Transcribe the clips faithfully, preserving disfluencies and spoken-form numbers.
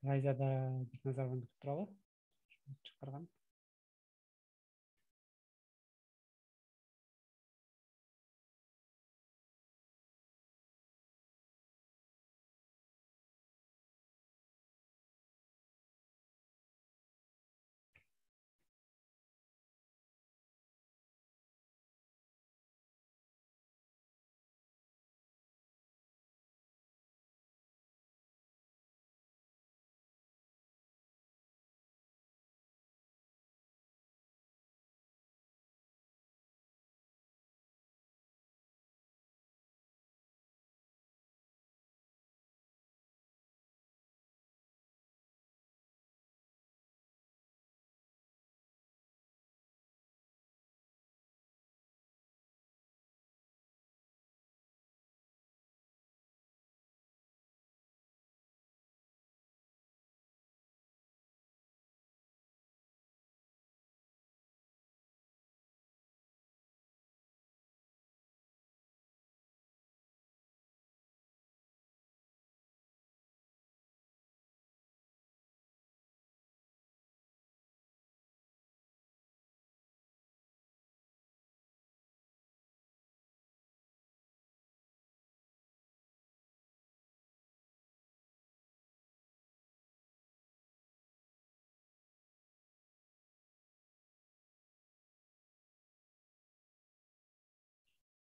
Айзада Бекназарованы күтүп туралы чакырган.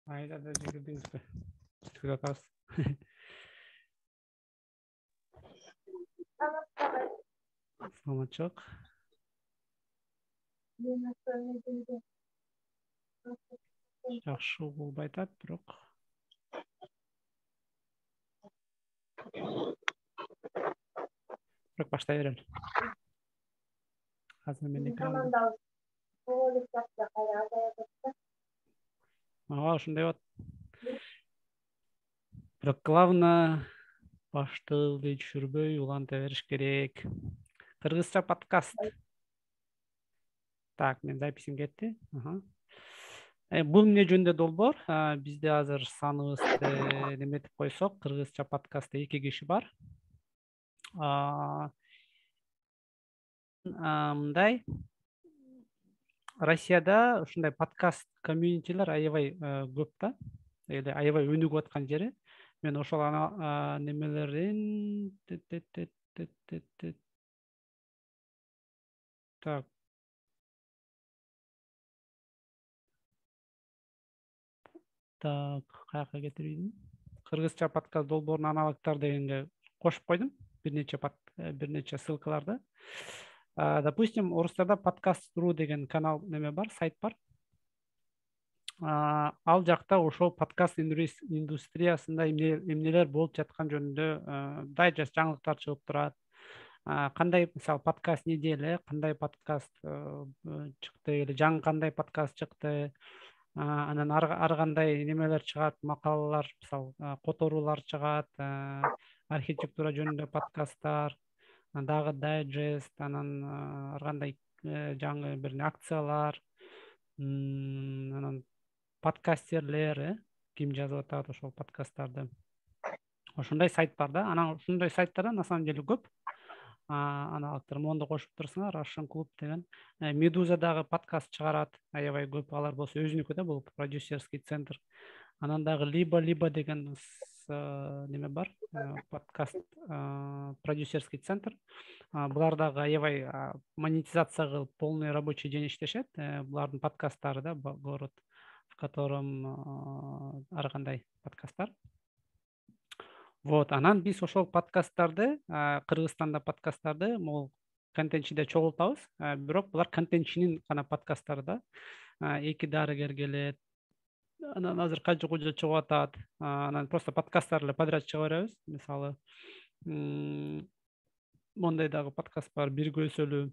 Айзада жүгүрдүңүзбү? Күтүп атабыз. Саламатчылык. Жакшы болбой атат, бирок бирок баштай берели. Азыр мен экран. Ага, ушундай болот. Бирок главное баштыгы түшүрбөй уланта бериш керек. Кыргызча подкаст. Так, мен записим кетти. Ага. Бул эмне жөнүндө долбоор? Бизде азыр саныбызды неметип койсок, кыргызча подкастта эки киши бар. Мындай Россияда ушундай подкаст комьюнитилер аябай көп да. Эле аябай өнүгүп аткан жери. Мен ошол немелерин так. Так, каяка кетирдим? Кыргызча подкаст долбоорунун аналогдор дегенге кошуп койдум. Бир нече бир нече ссылкаларды. Допустим, орустарда подкаст.ру деген канал неме бар, сайт бар. Ал жакта ошол подкаст индустриясында эмнелер болуп жаткан жөнүндө дайджест жаңылыктар чыгып турат. Кандай, мисалы, подкаст неде эле, кандай подкаст чыкты эле, жаңы кандай подкаст чыкты. Анан ар кандай немелер чыгат, макалалар, мисалы, которуулар чыгат, архитектура жөнүндө подкасттар, дагы дайджест, анан ар кандай жаңы бир акциялар, анан подкастерлер, ким жазып атат ошол подкасттарды. Ошондой сайт бар да. Анан ушундай сайттар на самом деле көп. Аналогдор мондо кошуп турсуңар, Russian клуб деген. Медуза дагы подкаст чыгарат, аябай көп. Алар болсо өзүнүкү да, бул продюсерский центр. Анан дагы либо-либо деген неме бар, подкаст продюсерский центр. Булар дагы аябай монетизация кылып, полный рабочий день иштешет. Булардын подкасттары да город, в котором ар кандай подкаст бар. Вот, анан биз ошол подкасттарды, Кыргызстанда подкасттарды могул контентчиде чогултабыз. Бирок булар контентчинин гана подкасттары да. Эки дарыгер келет. Анан азыр кажы кужа чыгып атат. Анан просто подкасттар эле подряд чыга беребиз. Мисалы, мондай дагы подкаст бар, бир көсөлүү.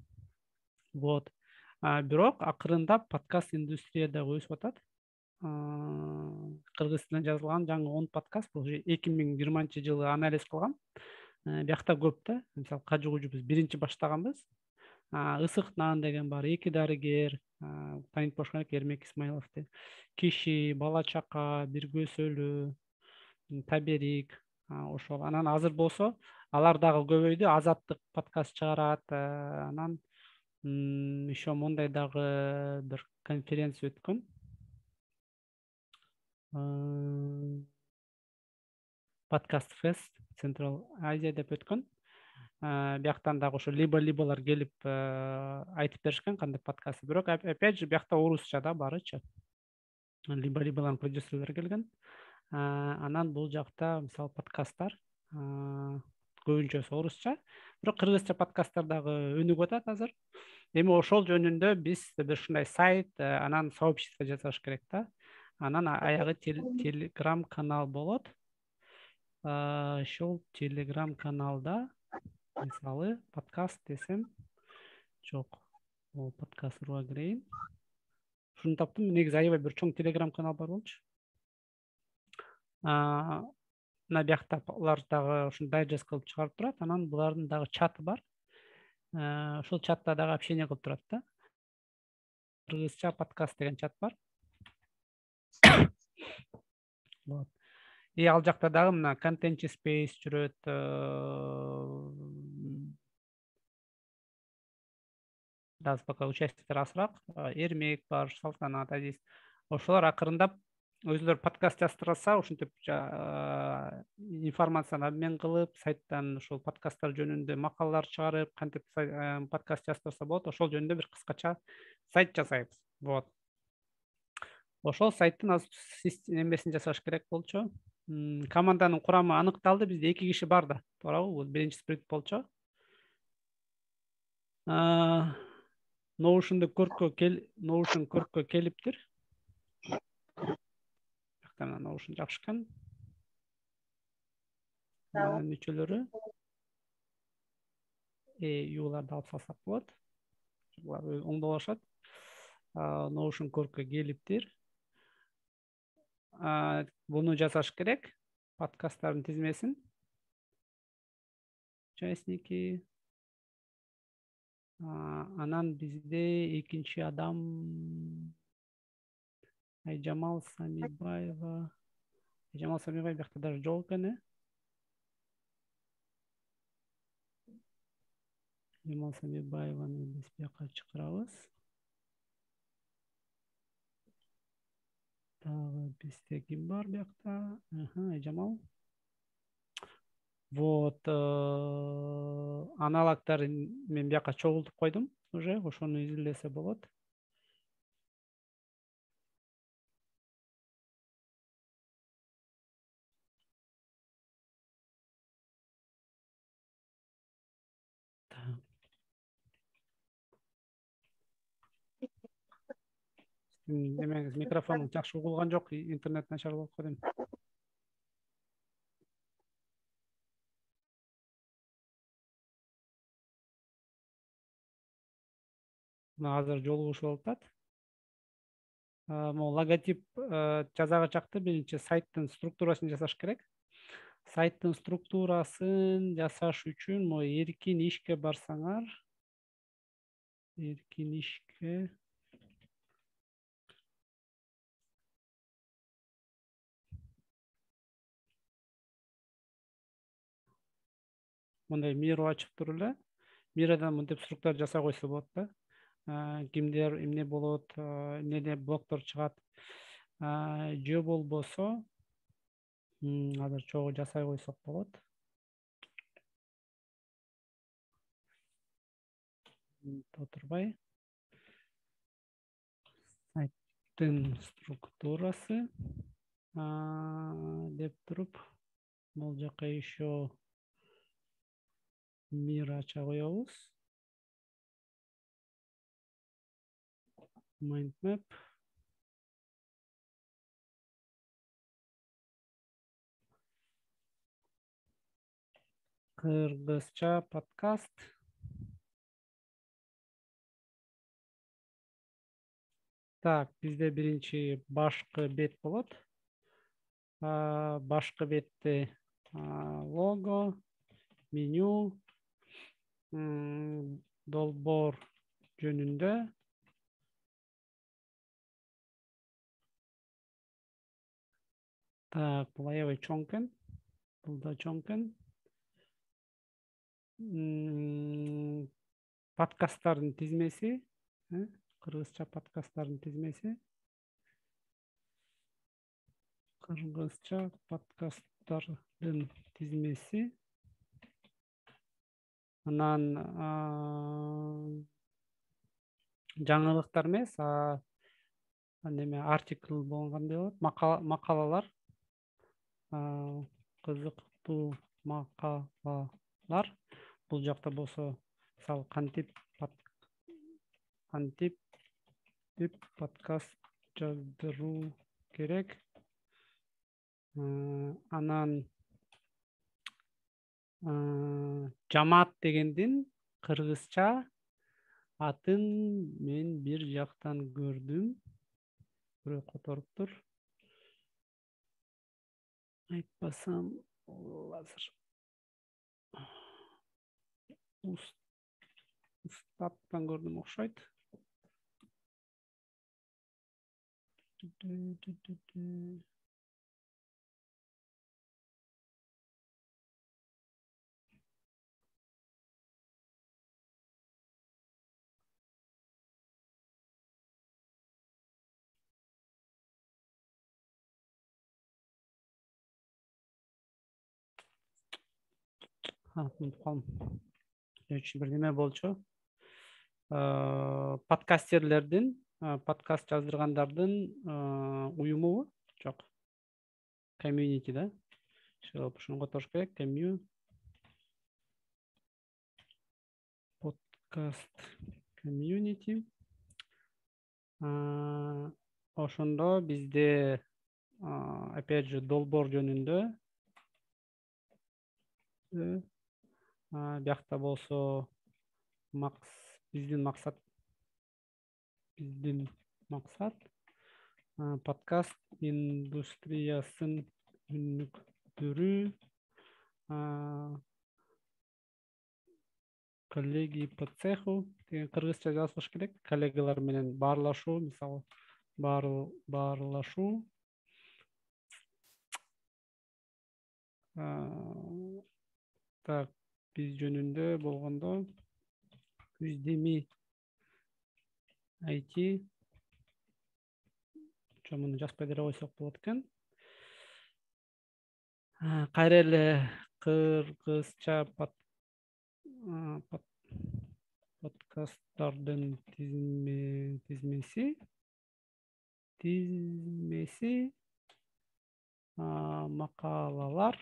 Вот. Бирок акырында подкаст индустрия дагы өсүп атат. Кыргыз тилинде жазылган жаңы он подкаст, бул эки миң жыйырманчы жылы анализ кылгам. Биякта көп да. Мисалы, кажы кужу биз биринчи баштаганбыз. Ысык нан деген бар, эки дарыгер, танып болуш керек, Эрмек Исмаиловду. Киши, бала чака, бир көсөлүү, таберик, Ошол анан азыр болсо алар дагы көбөйдү. Азаттык подкаст чыгарат. Анан еще мондай дагы бир конференция өткөн. Подкаст фест Централ Азия деп өткөн. Бияктан дагы ошо либо-либолар келип айтып беришкен кандай подкаст. Бирок опять же биякта орусча да барычы. Либо-либолардын продюсерлери келген. Анан бул жакта мисалы подкасттар көбүнчөсү орусча, бирок кыргызча подкасттар дагы өнүгүп атат азыр. Эми ошол жөнүндө биз бир ушундай сайт, анан сообщество жасаш керек да. Анан аягы телеграм канал болот. Ошол телеграм каналда мисалы подкаст десем, жок, бул подкаст руга кирейин. Ушуну таптым. Негизи аябай бир чоң телеграм канал бар болчу. Мына биякта алар дагы ушун дайджест кылып чыгарып турат. Анан булардын дагы чаты бар. Ошол чатта дагы общение кылып турат да. Кыргызча подкаст деген чат бар. Вот. И ал жакта дагы мына контент space жүрөт. Дагы пока участниктер азыраак. Эрмек бар, Салтанат, Азиз. Ошолор акырындап өзүлөрү подкаст жаздырса, ушинтип информацияны обмен кылып, сайттан ошол подкасттар жөнүндө макалалар чыгарып, кантип подкаст жаздырса болот, ошол жөнүндө бир кыскача сайт жасайбыз. Вот. Ошол сайттын азыр эмесин жасаш керек болчу. Команданын курамы аныкталды. Бизде эки киши бар да, туурабы? Бул биринчи спринт болчу. Notion көркө кел, Notion көркө келиптир. Жактан Notion жакшыкан. Анан мүчөлөрү э юларды алып салсак болот. Булар оңдолушат. Notion көркө келиптир. Буну жасаш керек. Подкасттардын тизмесин. Участники. Анан бизде экинчи адам Айжамал Самибаева. Айжамал Самибаева бияқта даже жок экен, э? Айжамал Самибаеваны биз бияка чакырабыз. Дагы бизде ким бар бияқта? Аха, Айжамал. Вот, аналогдарын мен бияка чогултуп койдум уже, ошону изилдесе болот. Демеңиз, микрофонум жакшы угулган жок, интернет начар болуп койдум. Азыр жолугушуп атат. Могу логотип жазага чакты биринчи сайттын структурасын жасаш керек. Сайттын структурасын жасаш үчүн могу эркин ишке барсаңар, эркин ишке мындай миру ачып туруп эле, мирадан мынтип структура жасай койсо болот да. Кимдер эмне болот, эмнеде блоктор чыгат. Же болбосо азыр чогуу жасай койсок болот. Отурбай. Сайттын структурасы деп туруп, бул жака еще мир ача коебуз. Mind map. Кыргызча подкаст. Так, бизде биринчи башкы бет болот. Башкы бетте лого, меню, долбоор жөнүндө. Так, бул аябай чоң экен. бул да чоң экен. Подкасттардын тизмеси, кыргызча подкасттардын тизмеси. Кыргызча подкасттардын тизмеси. Анан жаңылыктар эмес, неме артикл болгондой болот, макалалар, кызыктуу макалалар. Бул жакта болсо, мисалы кантип кантип деп подкаст жаздыруу керек. Анан жамаат дегендин кыргызча атын мен бир жактан көрдүм. Бирөө которуптур. Айтпасам, азыр Устаттан көрдүм окшойт. Бир неме болчу. Подкастерлердин, подкаст жаздыргандардын уюмубу? Жок. Community да. Ушуну которуш керек. Подкаст community. Ошондо бизде опять же долбоор жөнүндө биякта болсо биздин максат биздин максат подкаст индустриясын өнүктүрүү, коллеги по цеху деген кыргызча жазылыш керек. Коллегалар менен баарлашуу, мисалы баарлашуу. Так, биз жөнүндө болгондо Үздеми ай ти чомуну жазбай деле койсок болот экен. Кайра эле кыргызча подкасттардын тизмеси тизмеси макалалар,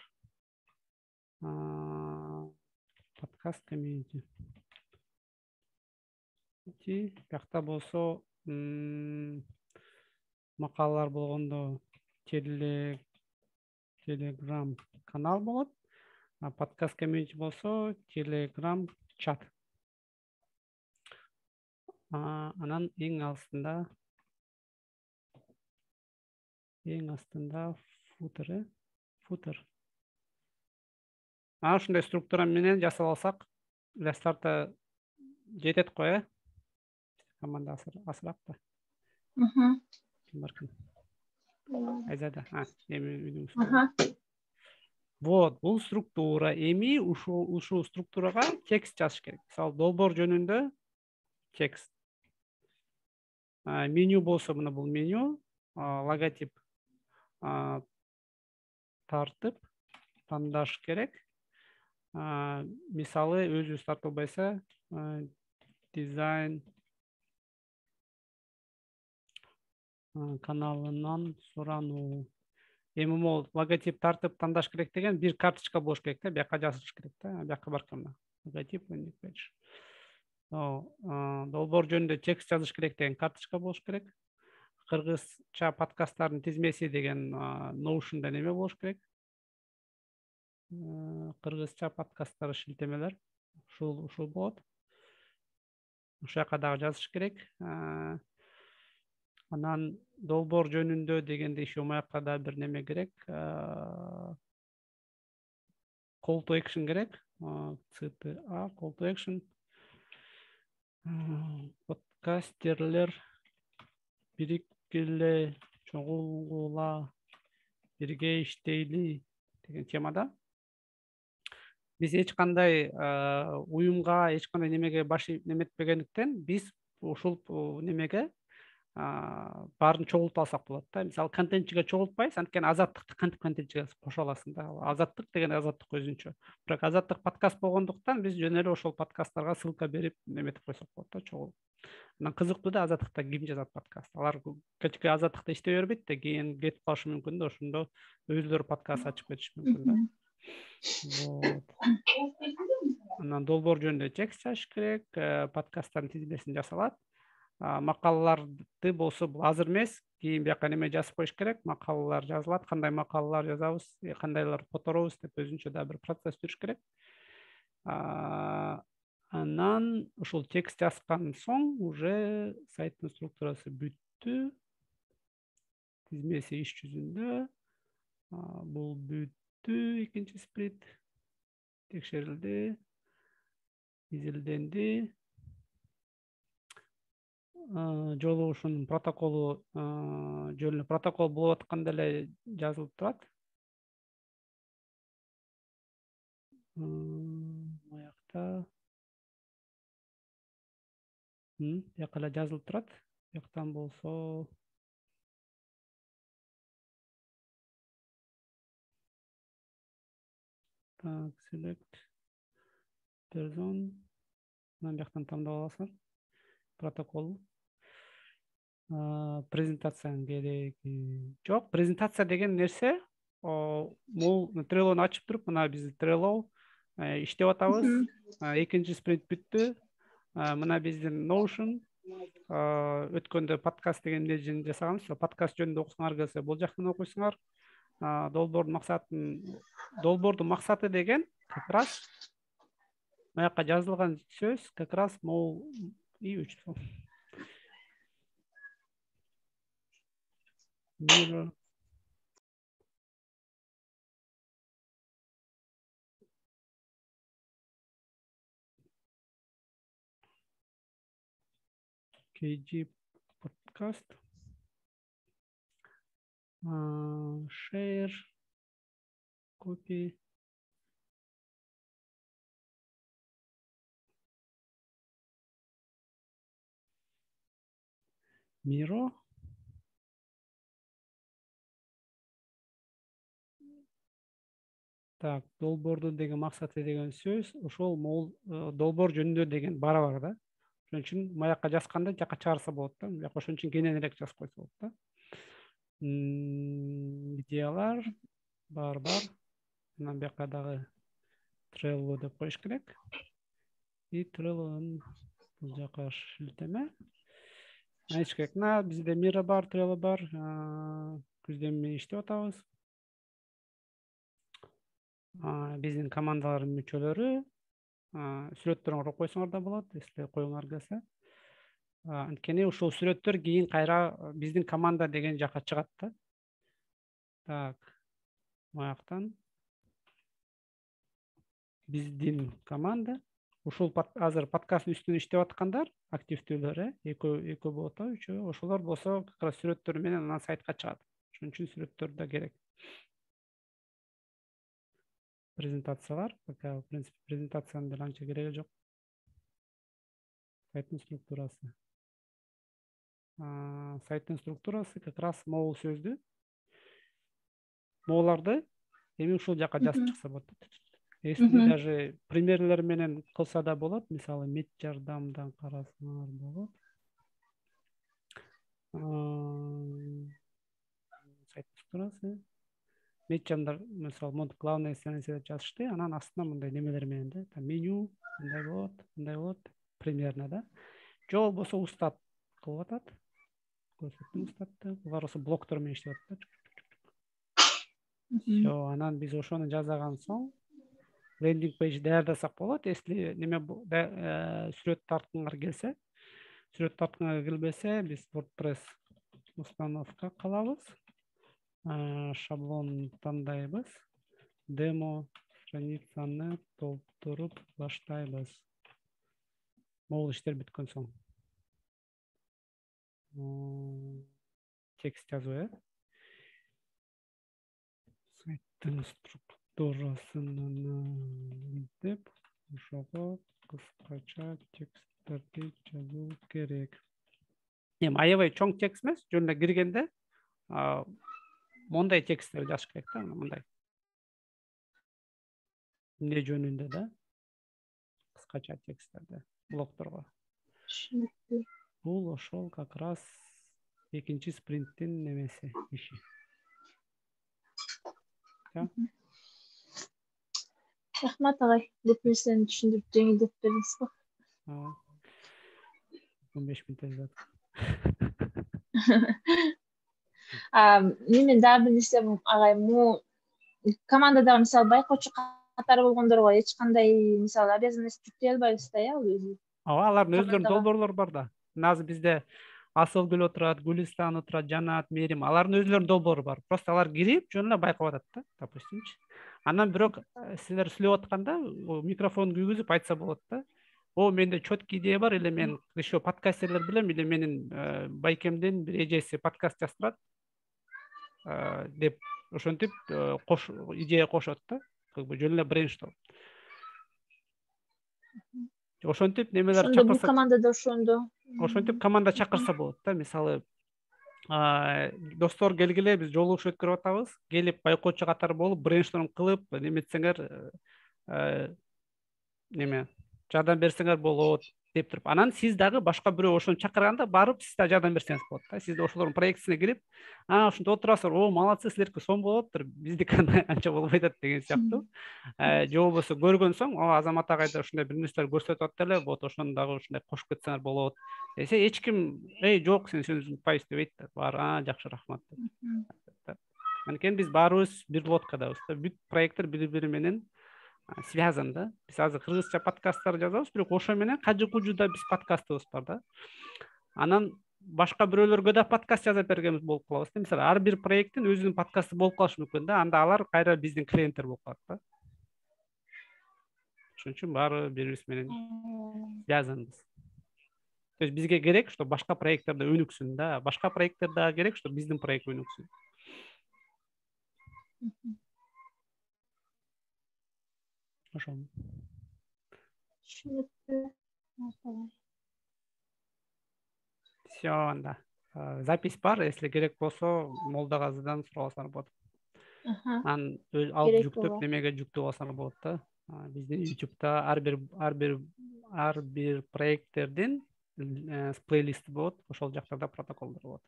подкаст комьюнити. Биякта болсо макалалар болгондо Telegram канал болот. Подкаст комьюнити болсо Telegram чат. Анан эң астында эң астында футер, футер. Ана ушундай структура менен жасап алсак, для старта жетет го, э? Команда асыраак да. Мм. Айзада, эми вот, бул структура. Эми ушул ушул структурага текст жазыш керек. Мисалы, долбоор жөнүндө текст. Меню болсо, мына бул меню, логотип тартып тандаш керек. Мисалы, өзүбүз тартып албайса, дизайн каналынан сурануу. Эми могул логотип тартып тандаш керек деген бир карточка болуш керек да, бияка жазылыш керек да, бияка баркан логотип. Долбоор жөнүндө текст жазыш керек деген карточка болуш керек. Кыргызча подкасттардын тизмеси деген Notion'да неме болуш керек. Кыргызча подкасттар шилтемелер. Ушул ушул болот. Ушул жака дагы жазыш керек. Анан долбоор жөнүндө дегенде еще маяка да бир неме керек. Call to action керек. си ти эй, call to action. Подкастерлер бириккиле, чогулгула, бирге иштейли деген темада. биз эч кандай уюмга, эч кандай немеге баш неметпегендиктен биз ушул немеге баарын чогултуп алсак болот да. Мисалы контентчиге чогултпайсыз, анткени азаттыкты кантип контентчиге кошо аласың да. Азаттык деген азаттык өзүнчө. Бирок азаттык подкаст болгондуктан биз жөн эле ошол подкасттарга ссылка берип неметип койсок болот да, чогулуп. Анан кызыктуу да, азаттыкта ким жазат подкаст. Алар кечке азаттыкта иштей бербейт да, кийин кетип калышы мүмкүн да, ошондо өздөрү подкаст ачып кетиши мүмкүн да. Вот. Анан долбоор жөнүндө текст жазыш керек, подкасттардын тизмесин жасалат. Макалаларды болсо бул азыр эмес, кийин бияка неме жазып коюш керек, макалалар жазылат, кандай макалалар жазабыз, кандайлар которобуз деп өзүнчө да бир процесс жүрүш керек. Анан ушул текст жазган соң уже сайттын структурасы бүттү, тизмеси иш жүзүндө, бул бүттү, экинчи спринт текшерилди, изилденди. Жолугушуунун протоколу жөн эле протокол болуп атканда эле жазылып турат. Аякта бияка эле жазылып турат. Бияктан болсо так, select person. Анан бияктан тандап аласың протокол. Презентациянын кереги жок. Презентация деген нерсе могул Trello'ну ачып туруп, мына биз Trello иштеп атабыз. Экинчи спринт бүттү. Мына биздин Notion өткөндө подкаст деген эмне жасаганбыз. Подкаст жөнүндө окусуңар келсе, бул жактан окуйсуңар. Долбоордун максатын долбоордун максаты деген как раз маяка жазылган сөз как раз могул и үч Mirror. кей джи подкаст. Share. Copy. Miro. Так, долбоордун деген максаты деген сөз, ошол могул долбоор жөнүндө деген бара бар да. Ошон үчүн маяка жазганда жака чыгарса болот да. Бияка ошон үчүн кененирээк жазып койсо болот да. Идеялар бар-бар. Анан бияка дагы Trello деп коюш керек. И Trello'нун бул жака шилтеме. Айч керек. На бизде Miro бар, Trello бар. Күздөн бери иштеп атабыз. Биздин командалардын мүчөлөрү сүрөттөрүн ороп койсоңор да болот, эсте коюңар келсе. Анткени ушул сүрөттөр кийин кайра биздин команда деген жака чыгат да. Так, маяктан биздин команда ушул азыр подкасттын үстүнө иштеп аткандар, активдүүлөр, экөө экөө болот да, үчөө. Ошолор болсо как раз сүрөттөр менен анан сайтка чыгат. Ошон үчүн сүрөттөр да керек. Презентациялар, пока в принципе презентациянын деле анча кереги жок. Сайттын структурасы. Сайттын структурасы как раз могул сөздү, могуларды эми ушул жака жазып чыкса болот. Если даже примерлер менен кылса да болот. Мисалы, мед жардамдан карасаңар болот. Сайт структурасы. Мед жардам, мисалы, монт главная страница деп жазышты. Анан астына мындай немелер менен да, меню, мындай болот, мындай болот, примерно да. Жо болбосо устат кылып атат. Көрсөттүм устатты. Булар ошо блоктор менен иштеп атат. Всё, анан биз ошону жасаган соң лендинг пейдж даярдасак болот. Если неме сүрөт тарткыңар келсе, сүрөт тарткыңар келбесе, биз WordPress установка кылабыз. Шаблон тандайбыз. Демо страницаны толтуруп баштайбыз. Могул иштер бүткөн соң. Текст жазуу, э? Сайттын туурасынан деп ошого кыскача тексттерди жазуу керек. Эми аябай чоң текст эмес, жөн эле киргенде мондай тексттерди жазыш керек да, мындай. Эмне жөнүндө да? Кыскача тексттерди блокторго. Түшүнүктүү. Бул ошол как раз экинчи спринттин немеси, иши. Рахмат агай, көп нерсени түшүндүрүп жеңилдетип бердиңиз го. он беш мүнөт жатат. Неме дагы бир нерсе агай, му командадагы мисалы байкоочу катары болгондорго эч кандай мисалы обязанность жүктөй албайбыз да, э, ал өзү. Ооба, алардын өздөрүнүн долбоорлору бар да. Азыр бизде Асылгүл отурат, Гүлистан отурат, Жанат, Мерим, алардын өздөрүнүн долбоору бар. Просто алар кирип, жөн эле байкап атат да, допустимчи. Анан бирок силер сүйлөп атканда микрофон күйгүзүп айтса болот да. О, менде четкий идея бар, или мен еще подкастерлер билем, или менин байкемдин бир эжеси подкаст жаздырат деп ошентип кош идея кошот да. Как бы жөн эле брейншторм. Ошентип немелер чакырса. Ошондо бул командада ошондо. Ошентип команда чакырса болот да. Мисалы, достор келгиле, биз жолугуш өткөрүп атабыз. Келип байкоочу катары болуп, брейншторм кылып, неметсеңер неме жардам берсеңер болот деп туруп. Анан сиз дагы башка бирөө ошону чакырганда барып, сиз да жардам берсеңиз болот да. Сиз да ошолордун проектисине кирип, а ошонто отурасыздар, о, молодцы, силерге сом болоптур, биздики анча болбой атат деген сыяктуу. Же болбосо көргөн соң, о, Азамат агайда ушундай бир нерселер көрсөтүп атат эле, вот ошону дагы ушундай кошуп кетсеңер болот десе, эч ким, эй, жок, сен сөзүңдү унутпайбыз деп айтты. Баары, а, жакшы, рахмат деп. Анткени биз баарыбыз бир лодкадабыз да. Бүт проекттер бири-бири менен связан да. Биз азыр кыргызча подкасттар жазабыз, бирок ошо менен кажы-кужуда биз подкастыбыз бар да. Анан башка бирөөлөргө да подкаст жазып бергенбиз болуп калабыз да. Мисалы, ар бир проекттин өзүнүн подкасты болуп калышы мүмкүн да. Анда алар кайра биздин клиенттер болуп калат да. Ошон үчүн баары бирибиз менен связанбыз. То есть бизге керек, что башка проекттер да өнүксүн да. Башка проекттер да керек, что биздин проект өнүксүн. Ошо. Түшүнүктүү. Все, анда. Запись бар, если керек болсо, Молдагазыдан сурасаңар болот. Анан алып жүктөп, немеге жүктөп алсаңар болот да. Биздин YouTube'да ар бир ар бир ар бир проекттердин плейлисти болот, ошол жактарда протоколдор болот.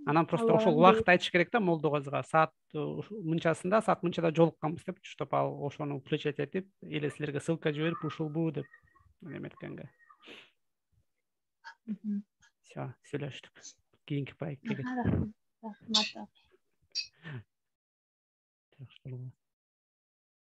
Анан просто ошол убакыт айтыш керек да Молдогазыга. Саат мынчасында, саат мынчада жолукканбыз деп, чтоб ал ошону включать этип, или силерге ссылка жиберип, ушулбу деп неметкенге. Все, сүйлөштүк. Кийинки проектке. Рахмат.